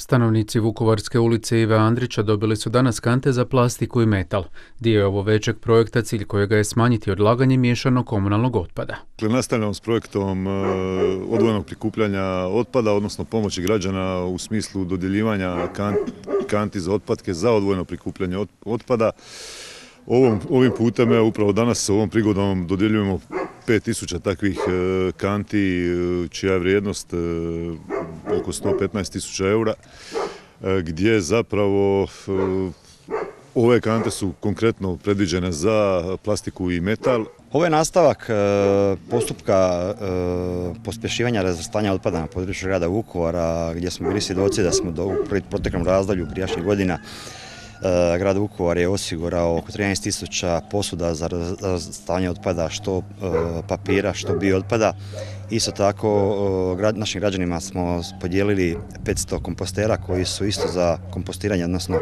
Stanovnici Vukovarske ulice Ive Andrića dobili su danas kante za plastiku i metal. Dio je ovo većeg projekta, cilj kojega je smanjiti odlaganje miješanog komunalnog otpada. Nastavljamo s projektom odvojenog prikupljanja otpada, odnosno pomoći građana u smislu dodjeljivanja kanti za otpadke za odvojeno prikupljanje otpada. Ovim putem, upravo danas ovom prigodom dodjeljujemo 5000 takvih kanti, čija je vrijednost oko 115.000 eura, gdje zapravo ove kante su konkretno predviđene za plastiku i metal. Ovo je nastavak postupka pospješivanja razvrstanja otpada na području grada Vukovara, gdje smo bili svjedoci da smo u proteklom razdoblju prijašnjih godina grad Vukovar je osigurao oko 13.000 posuda za razvrstavanje otpada, što papira, što biootpada. Isto tako našim građanima smo podijelili 500 kompostera koji su isto za kompostiranje, odnosno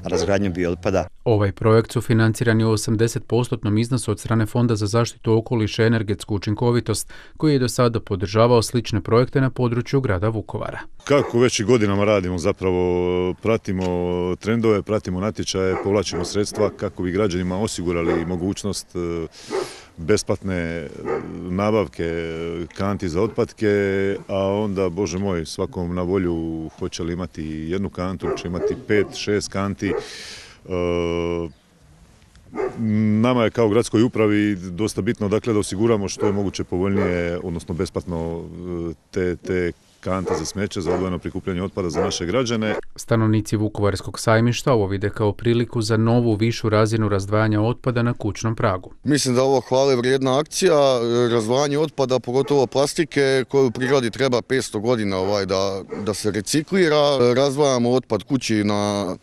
razgradnju biootpada. Ovaj projekt su financiran je u 80% iznosu od strane Fonda za zaštitu okoliša i energetsku učinkovitost, koji je do sada podržavao slične projekte na području grada Vukovara. Kako već i godinama radimo, zapravo pratimo trendove, pratimo natječaje, povlačimo sredstva kako bi građanima osigurali mogućnost besplatne nabavke kanti za otpadke, a onda, Bože moj, svakom na volju hoće li imati jednu kantu, će imati 5-6 kanti. Nama je kao gradskoj upravi dosta bitno da osiguramo što je moguće povoljnije, odnosno besplatno te kante za smeće, za odvojeno prikupljanje otpada za naše građane. Stanovnici Vukovarskog sajmišta ovo vide kao priliku za novu višu razinu razdvajanja otpada na kućnom pragu. Mislim da je ovo hvale vrijedna akcija, razdvajanje otpada, pogotovo plastike, koju u prirodi treba 500 godina da se reciklira. Razdvajamo otpad kući na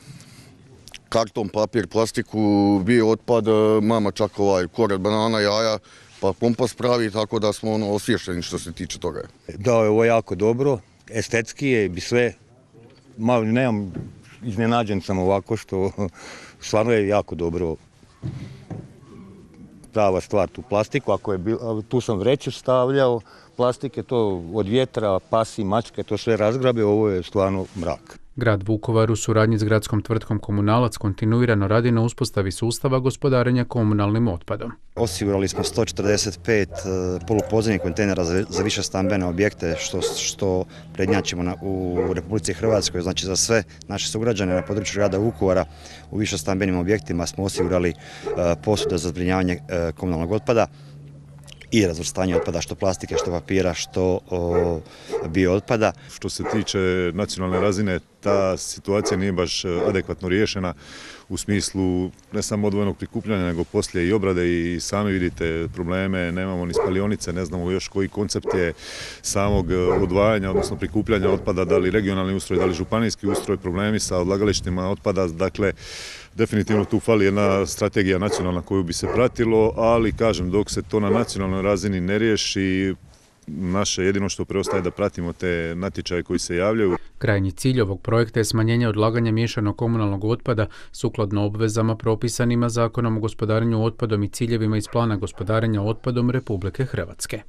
karton, papir, plastiku, biootpad, mama čak kored banana, jaja, pa kompost pravi, tako da smo osvješteni što se tiče toga. Da, ovo je jako dobro, estetski je i sve, nemam, iznenađen sam ovako što stvarno je jako dobro, prava stvar tu plastiku, tu sam vreću stavljao, plastike to od vjetra, pasi, mačke, to sve razgrabe, ovo je stvarno mrak. Grad Vukovar u suradnji s gradskom tvrtkom Komunalac kontinuirano radi na uspostavi sustava gospodarenja komunalnim otpadom. Osigurali smo 145 polupodzemnih kontejnera za više stambene objekte, što prednjačimo u Republici Hrvatskoj. Znači za sve naše sugrađane na području grada Vukovara u više stambenim objektima smo osigurali posude za zbrinjavanje komunalnog otpada i razvrstanje otpada, što plastike, što papira, što biootpada. Što se tiče nacionalne razine, ta situacija nije baš adekvatno riješena u smislu ne samo odvojenog prikupljanja, nego poslije i obrade, i sami vidite probleme, nemamo ni spalionice, ne znamo još koji koncept je samog odvajanja, odnosno prikupljanja otpada, da li regionalni ustroj, da li županijski ustroj, problemi sa odlagalištima otpada, dakle definitivno tu fali jedna strategija nacionalna koju bi se pratilo, ali kažem, dok se to na nacionalnoj razini ne riješi, naše jedino što preostaje da pratimo te natječaje koji se javljaju. Krajnji cilj ovog projekta je smanjenje odlaganja miješanog komunalnog otpada sukladno obvezama propisanima Zakonom o gospodarenju otpadom i ciljevima iz plana gospodarenja otpadom Republike Hrvatske.